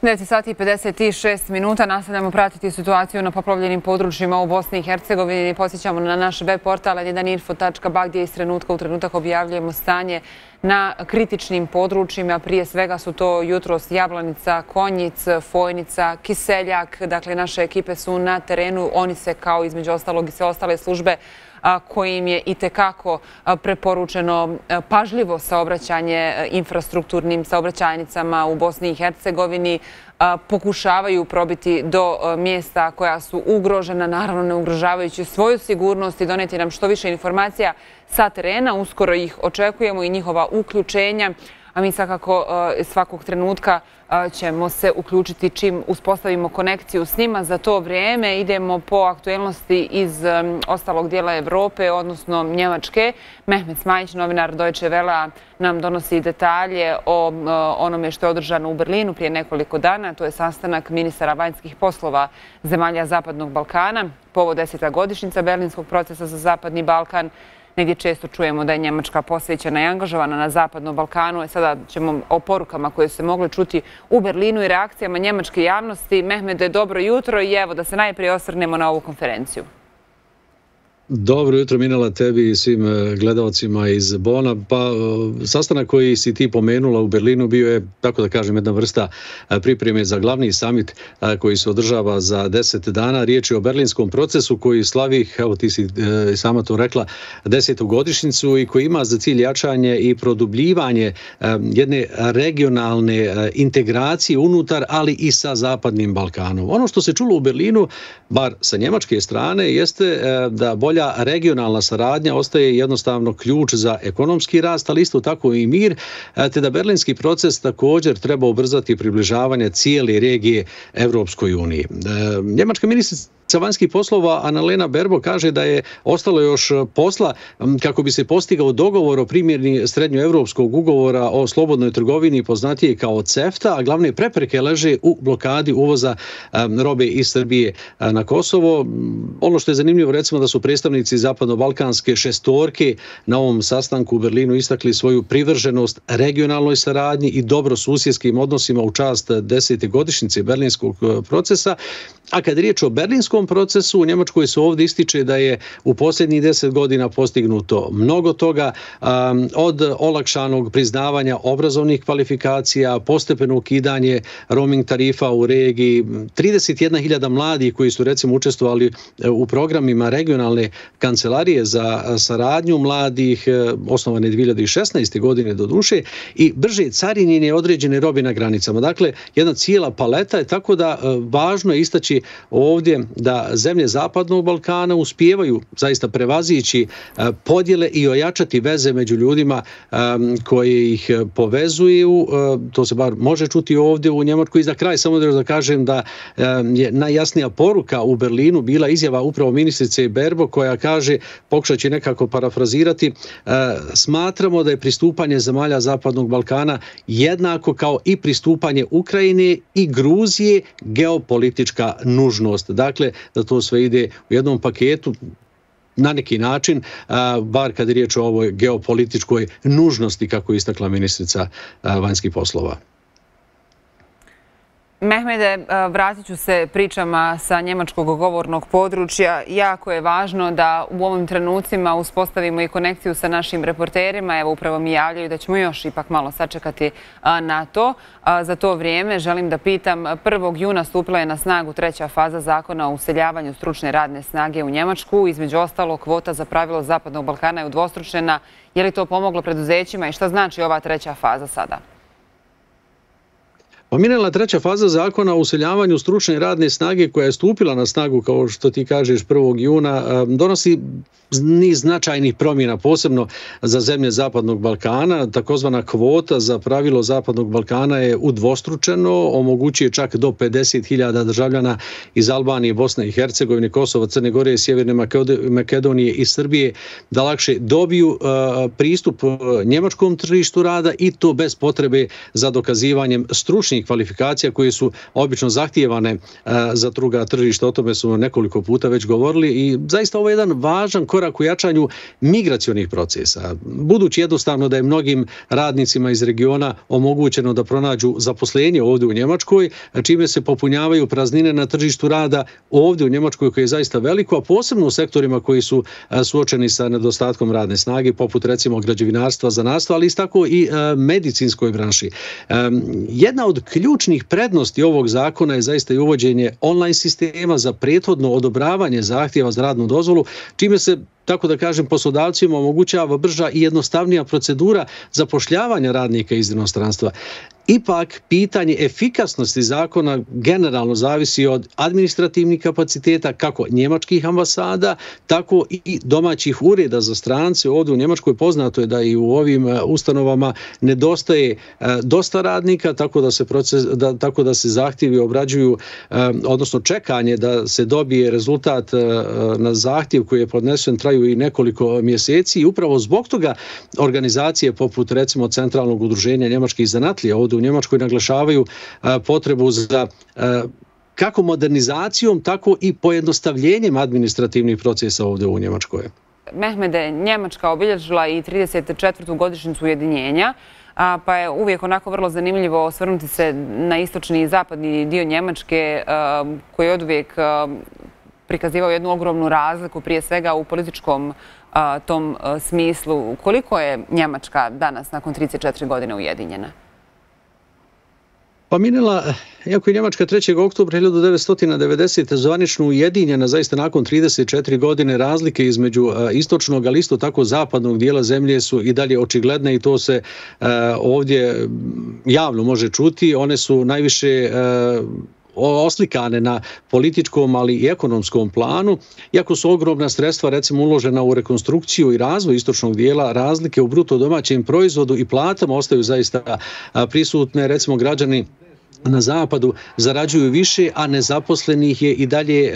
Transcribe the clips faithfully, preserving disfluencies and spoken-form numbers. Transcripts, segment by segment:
devet sati i pedeset šest minuta. Nastavljamo pratiti situaciju na poplavljenim područjima u Bosni i Hercegovini. Podsjećamo na naš web portal en jedan info tačka ba gdje iz trenutka u trenutak objavljujemo stanje na kritičnim područjima. Prije svega su to jutros Jablanica, Konjic, Fojnica, Kiseljak. Dakle, naše ekipe su na terenu. Oni se, kao između ostalog i sve ostale službe, kojim je itekako preporučeno pažljivo saobraćanje infrastrukturnim saobraćajnicama u Bosni i Hercegovini, pokušavaju probiti do mjesta koja su ugrožena, naravno ne ugrožavajući svoju sigurnost, i doneti nam što više informacija sa terena. Uskoro ih očekujemo i njihova uključenja, a mi svakako svakog trenutka ćemo se uključiti čim uspostavimo konekciju s njima. Za to vrijeme idemo po aktuelnosti iz ostalog dijela Evrope, odnosno Njemačke. Mehmet Smajić, novinar Deutsche Wellea, nam donosi detalje o onome što je održano u Berlinu prije nekoliko dana. To je sastanak ministara vanjskih poslova zemalja Zapadnog Balkana. Povod deseta godišnjica Berlinskog procesa za Zapadni Balkan. Negdje često čujemo da je Njemačka posvećena i angažovana na Zapadnom Balkanu. Sada ćemo o porukama koje su se mogle čuti u Berlinu i reakcijama njemačke javnosti. Mehmede, dobro jutro i evo da se najprije osvrnemo na ovu konferenciju. Dobro jutro, Minela, tebi i svim gledalcima iz Bona. Pa, sastanak koji si ti pomenula u Berlinu bio je, tako da kažem, jedna vrsta pripreme za glavni samit koji se održava za deset dana. Riječ je o berlinskom procesu koji slavi, evo ti si sama to rekla, desetu godišnjicu i koji ima za cilj jačanje i produbljivanje jedne regionalne integracije unutar, ali i sa Zapadnim Balkanom. Ono što se čulo u Berlinu, bar sa njemačke strane, jeste da bolje regionalna saradnja ostaje jednostavno ključ za ekonomski rast, ali isto tako i mir, te da berlinski proces također treba ubrzati približavanje cijele regije Evropskoj uniji. Njemačka ministrica vanjskih poslova Annalena Baerbock kaže da je ostalo još posla kako bi se postigao dogovor o primjeni srednjoevropskog ugovora o slobodnoj trgovini, poznatije kao CEFTA, a glavne prepreke leže u blokadi uvoza robe iz Srbije na Kosovo. Ono što je zanimljivo, recimo, da su predstavnici zapadno-balkanske šestorke na ovom sastanku u Berlinu istakli svoju privrženost regionalnoj saradnji i dobrosusjedskim odnosima u čast desete godišnjice berlinskog procesa. A kad je riječ o berlinskom procesu, u Njemačkoj se ovdje ističe da je u posljednjih deset godina postignuto mnogo toga, um, od olakšanog priznavanja obrazovnih kvalifikacija, postepeno ukidanje roaming tarifa u regiji, trideset jedna hiljada mladih koji su recimo učestvovali u programima regionalne kancelarije za saradnju mladih, osnovane dvije hiljade šesnaeste. godine do duše, i brže carinjenje određene robe na granicama. Dakle, jedna cijela paleta je, tako da važno je istaći ovdje da zemlje Zapadnog Balkana uspijevaju zaista prevazići podjele i ojačati veze među ljudima koje ih povezuju. To se bar može čuti ovdje u Njemačkoj. I za kraj samo da kažem da je najjasnija poruka u Berlinu bila izjava upravo ministrice Baerbock koja kaže, pokušat će nekako parafrazirati, smatramo da je pristupanje zemalja Zapadnog Balkana jednako kao i pristupanje Ukrajine i Gruzije geopolitička nužnost. Dakle, da to sve ide u jednom paketu na neki način, bar kad je riječ o ovoj geopolitičkoj nužnosti, kako je istakla ministrica vanjskih poslova. Mehmede, vratit ću se pričama sa njemačkog govornog područja. Jako je važno da u ovim trenucima uspostavimo i konekciju sa našim reporterima. Evo, upravo mi javljaju da ćemo još ipak malo sačekati na to. Za to vrijeme želim da pitam, prvog juna stupila je na snagu treća faza zakona o useljavanju stručne radne snage u Njemačku. Između ostalo, kvota za pravilo Zapadnog Balkana je udvostručena. Je li to pomoglo preduzećima i šta znači ova treća faza sada? Pominjala treća faza zakona o useljavanju stručne radne snage koja je stupila na snagu, kao što ti kažeš, prvog juna, donosi niz značajnih promjena, posebno za zemlje Zapadnog Balkana. Takozvana kvota za pravilo Zapadnog Balkana je udvostručeno, omogućuje čak do pedeset hiljada državljana iz Albanije, Bosne i Hercegovine, Kosova, Crne Gore, Sjeverne Makedonije i Srbije da lakše dobiju pristup njemačkom tržištu rada, i to bez potrebe za dokazivanjem stručnih specifičnih kvalifikacija koje su obično zahtijevane za druga tržišta. O tome smo nekoliko puta već govorili i zaista ovo je jedan važan korak u jačanju migracionih procesa. Budući jednostavno da je mnogim radnicima iz regiona omogućeno da pronađu zaposlenje ovdje u Njemačkoj, čime se popunjavaju praznine na tržištu rada ovdje u Njemačkoj koje je zaista veliko, a posebno u sektorima koji su suočeni sa nedostatkom radne snage, poput recimo građevinarstva, zanatstva, ali isto tako i medicinskoj branši. Jedna od ključnih prednosti ovog zakona je zaista i uvođenje online sistema za prethodno odobravanje zahtjeva za radnu dozvolu, čime se, tako da kažem, poslodavcima omogućava brža i jednostavnija procedura zapošljavanja radnika iz inostranstva. Ipak, pitanje efikasnosti zakona generalno zavisi od administrativnih kapaciteta kako njemačkih ambasada, tako i domaćih ureda za strance. Ovdje u Njemačkoj poznato je da i u ovim ustanovama nedostaje dosta radnika, tako da se, proces, da, tako da se zahtjevi obrađuju, odnosno čekanje da se dobije rezultat na zahtjev koji je podnesen traju i nekoliko mjeseci i upravo zbog toga organizacije poput recimo Centralnog udruženja njemačkih zanatlija ovdje u Njemačkoj naglašavaju potrebu za kako modernizacijom, tako i pojednostavljenjem administrativnih procesa ovdje u Njemačkoj. Mehmede, Njemačka obilježila i trideset četvrtu godišnjicu ujedinjenja, pa je uvijek onako vrlo zanimljivo osvrnuti se na istočni i zapadni dio Njemačke koji je oduvijek prikazivao jednu ogromnu razliku, prije svega u političkom tom smislu. Koliko je Njemačka danas nakon trideset četiri godine ujedinjena? Pa Minela, iako je Njemačka trećeg oktobra hiljadu devetsto devedesete zvanično ujedinjena, zaista nakon trideset četiri godine razlike između istočnog, ali isto tako zapadnog dijela zemlje su i dalje očigledne i to se ovdje javno može čuti. One su najviše oslikane na političkom, ali i ekonomskom planu. Iako su ogromna sredstva recimo uložena u rekonstrukciju i razvoj istočnog dijela, razlike u bruto domaćem proizvodu i platama ostaju zaista prisutne. Recimo građani na zapadu zarađuju više, a nezaposlenih je i dalje e,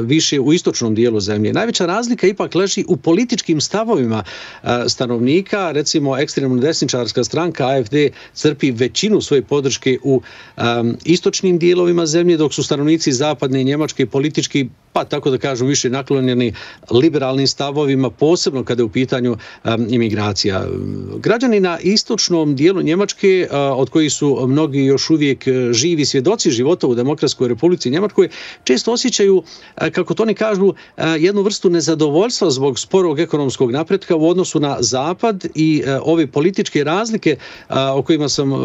više u istočnom dijelu zemlje. Najveća razlika ipak leži u političkim stavovima e, stanovnika. Recimo, ekstremno desničarska stranka A F D crpi većinu svoje podrške u e, istočnim dijelovima zemlje, dok su stanovnici zapadne Njemačke politički, pa tako da kažem, više naklonjeni liberalnim stavovima, posebno kada je u pitanju um, imigracija. Građani na istočnom dijelu Njemačke, uh, od kojih su mnogi još uvijek živi svjedoci života u Demokratskoj Republici Njemačkoj, često osjećaju, uh, kako to oni kažu, uh, jednu vrstu nezadovoljstva zbog sporog ekonomskog napretka u odnosu na zapad i uh, ove političke razlike uh, o kojima sam, uh,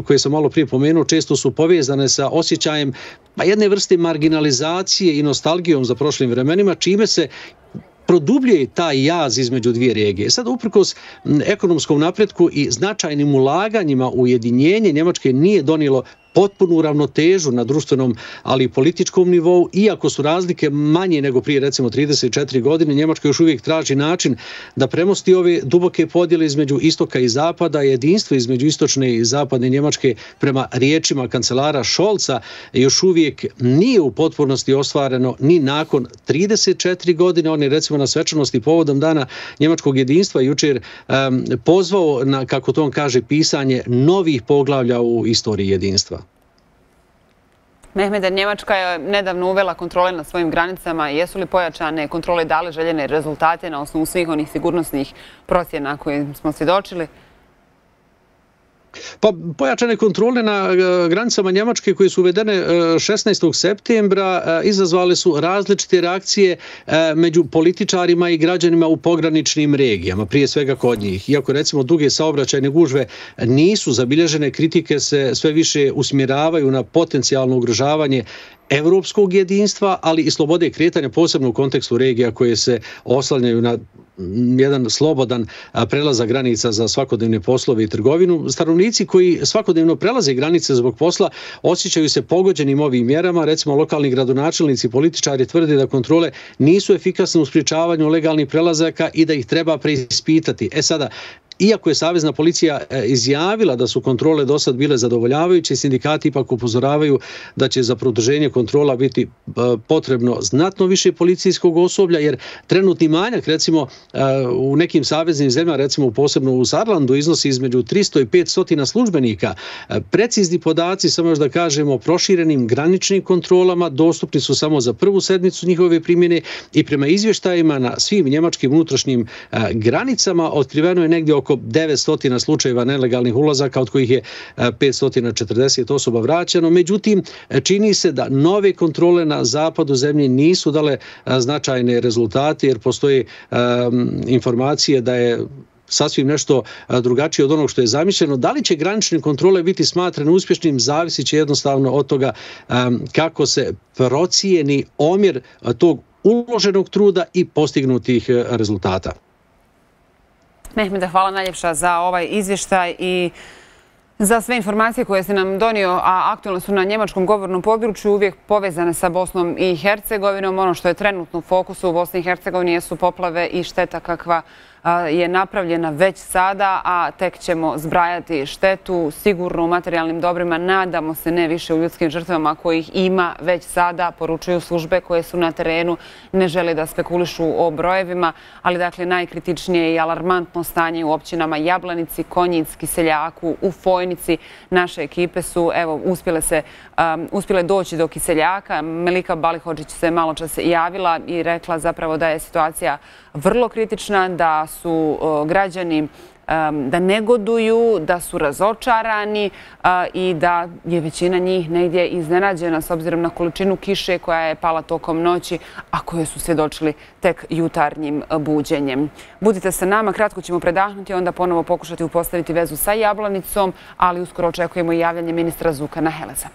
koje sam malo prije pomenuo, često su povezane sa osjećajem pa jedne vrste marginalizacije i nostalgijom za prošlim vremenima, čime se produbljuje taj jaz između dvije regije. Sad, uprkos ekonomskom napretku i značajnim ulaganjima u ujedinjenje, Njemačke nije donijelo potpunu ravnotežu na društvenom, ali i političkom nivou. Iako su razlike manje nego prije recimo trideset četiri godine, Njemačka još uvijek traži način da premosti ove duboke podjele između istoka i zapada. Jedinstvo između istočne i zapadne Njemačke, prema riječima kancelara Scholza, još uvijek nije u potpunosti ostvareno ni nakon trideset četiri godine. On je recimo na svečanosti povodom dana njemačkog jedinstva jučer um, pozvao na, kako to on kaže, pisanje novih poglavlja u istoriji jedinstva. Mehmede, Njemačka je nedavno uvela kontrole na svojim granicama. Jesu li pojačane kontrole dale željene rezultate na osnovu svih onih sigurnosnih procjena koje smo svjedočili? Pa pojačane kontrole na granicama Njemačke koje su uvedene šesnaestog septembra izazvale su različite reakcije među političarima i građanima u pograničnim regijama, prije svega kod njih. Iako recimo duge saobraćajne gužve nisu zabilježene, kritike se sve više usmjeravaju na potencijalno ugrožavanje evropskog jedinstva, ali i slobode kretanja, posebno u kontekstu regija koje se oslanjaju na jedan slobodan prelazak granica za svakodnevne poslove i trgovinu. Stanovnici koji svakodnevno prelaze granice zbog posla osjećaju se pogođenim ovim mjerama. Recimo, lokalni gradonačelnici i političari tvrde da kontrole nisu efikasne u sprječavanju legalnih prelazaka i da ih treba preispitati. E sada, iako je Savezna policija izjavila da su kontrole do sad bile zadovoljavajuće, sindikati ipak upozoravaju da će za produženje kontrola biti potrebno znatno više policijskog osoblja, jer trenutni manjak, recimo u nekim saveznim zemljama, recimo posebno u Saarlandu, iznosi između tristo i petsto službenika. Precizni podaci, samo još da kažemo, o proširenim graničnim kontrolama dostupni su samo za prvu sedmicu njihove primjene i prema izvještajima na svim njemačkim unutrašnjim granicama otkriveno je negdje oko devetsto slučajeva nelegalnih ulazaka, od kojih je petsto četrdeset osoba vraćeno. Međutim, čini se da nove kontrole na zapadu zemlje nisu dale značajne rezultate, jer postoje informacije da je sasvim nešto drugačije od onog što je zamišljeno. Da li će granične kontrole biti smatrane uspješnim, zavisit će jednostavno od toga kako se procijeni omjer tog uloženog truda i postignutih rezultata. Mehmeda, hvala najljepša za ovaj izvještaj i za sve informacije koje si nam donio, a aktualne su na njemačkom govornom području, uvijek povezane sa Bosnom i Hercegovinom. Ono što je trenutno u fokusu u Bosni i Hercegovini jesu poplave i šteta kakva je napravljena već sada, a tek ćemo zbrajati štetu sigurno u materijalnim dobrima. Nadamo se ne više u ljudskim žrtvama kojih ima već sada, poručuju službe koje su na terenu, ne žele da spekulišu o brojevima, ali dakle najkritičnije i alarmantno stanje u općinama Jablanici, Konjic, Kiseljaku, u Fojnici. Naše ekipe su evo uspjele se um, uspjele doći do Kiseljaka. Melika Balihodžić se malo čas javila i rekla zapravo da je situacija vrlo kritična, da su građani da negoduju, da su razočarani i da je većina njih negdje iznenađena s obzirom na količinu kiše koja je pala tokom noći, a koje su svjedočili tek jutarnjim buđenjem. Budite sa nama, kratko ćemo predahnuti, onda ponovo pokušati uspostaviti vezu sa Jablanicom, ali uskoro očekujemo i javljanje ministra Zukana Heleza.